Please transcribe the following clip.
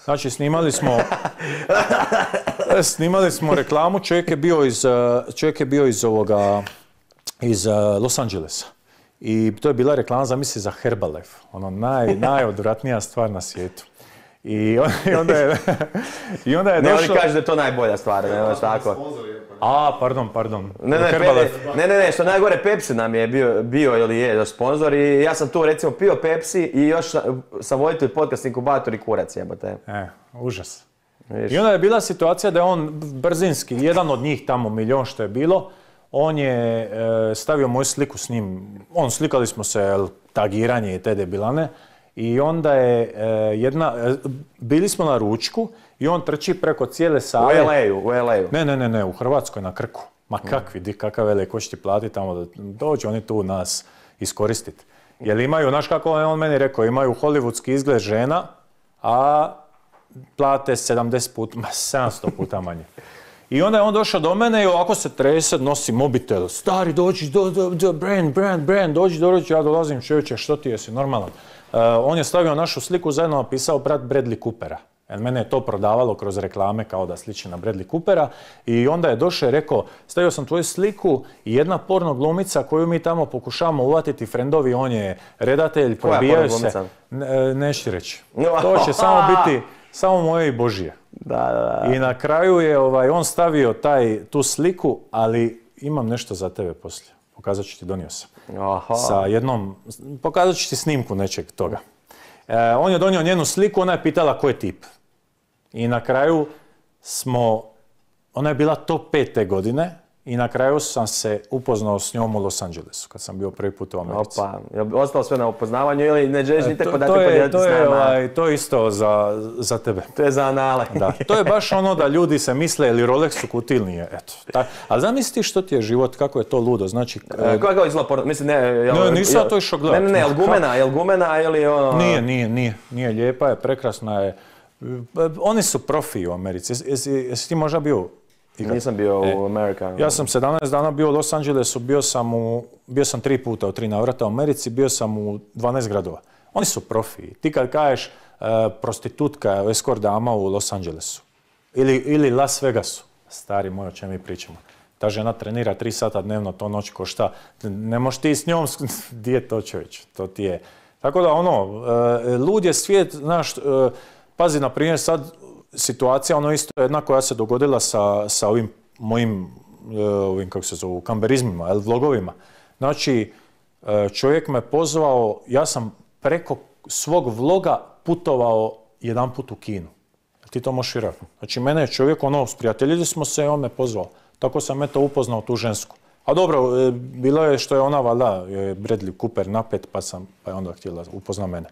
Znači, snimali smo reklamu, čovjek je bio iz Los Angelesa. I to je bila reklama, zamisli, za Herbalife. Ono, najodvratnija stvar na svijetu. I onda je došlo... Ne, oni kažu da je to najbolja stvar, ne, tako. Pardon. Ne, što najgore, Pepsi nam je bio ili je sponzor i ja sam tu recimo pio Pepsi i još sam voditelj podcast Inkubator i kurac, jebote. Užas. I onda je bila situacija da je on brzinski, jedan od njih tamo, milion što je bilo, on je stavio moju sliku s njim, slikali smo se, tagiranje i te debilane, i onda je bili smo na ručku i on trči preko cijele sale. U LA-u? Ne, u Hrvatskoj, na Krku. Ma kakav LA, ko će ti platiti tamo da dođe oni tu nas iskoristiti. Jer imaju, znaš kako je on meni rekao, imaju hollywoodski izgled žena, a plate 700 puta manje. I onda je on došao do mene i ovako se trese, nosi mobitel. Stari, dođi, Brand, dođi, ja dolazim, čovječe, što ti jesi, normalan. On je stavio našu sliku, zajedno napisao brat Bradley Coopera. Jer mene je to prodavalo kroz reklame kao da sliči na Bradley Coopera. I onda je došao i rekao, stavio sam tvoju sliku i jedna porno glumica koju mi tamo pokušavamo uvatiti, frendovi, on je redatelj, probijaju se. Neću ti reći. To će samo biti samo moje i Božije. Da. I na kraju je on stavio tu sliku, ali imam nešto za tebe poslije. Pokazat ću ti, donio sam. Pokazat ću ti snimku nečeg toga. On je donio njenu sliku, ona je pitala ko je tip. I na kraju ona je bila top 5 te godine i na kraju sam se upoznao s njom u Los Angelesu, kad sam bio prvi put u Americi. Opa, je li ostalo sve na upoznavanju ili ne želiš ni tako dati podijeliti s nama? To je isto za tebe. To je za anale. Da, to je baš ono da ljudi se misle ili Rolex u kutiji ili nije. Ali zamisli što ti je život, kako je to ludo. Znači... Kako izgleda porno? Mislim, nisam ja to išao gledati. Ne, jel gumena ili ono... Nije, lijepa je, prekrasna je. Oni su profi u Americi. Jesi ti možda bio? Nisam bio u Americi. Ja sam 17 dana bio u Los Angelesu, bio sam 3 puta u 3 navrata u Americi, bio sam u 12 gradova. Oni su profi. Ti kad kažeš prostitutka, escort dama u Los Angelesu ili Las Vegasu, stari moj, o čem mi pričamo. Ta žena trenira 3 sata dnevno, to noć košta. Ne možeš ti s njom, di je to čovječ? To ti je. Tako da lud je svijet, znaš, pazi, na primjer sad, situacija, isto jedna koja se dogodila sa ovim mojim, kako se zovu, kamberizmima, vlogovima. Znači, čovjek me pozvao, ja sam preko svog vloga putovao jedan put u Kinu. Ti to možeš vjerojatno. Znači, mene je čovjek, sprijateljili smo se i on me pozvao. Tako sam upoznao tu žensku. A dobro, bilo je što je ona, valjda, je Bradley Cooper napet, pa je onda htjela upozna mene.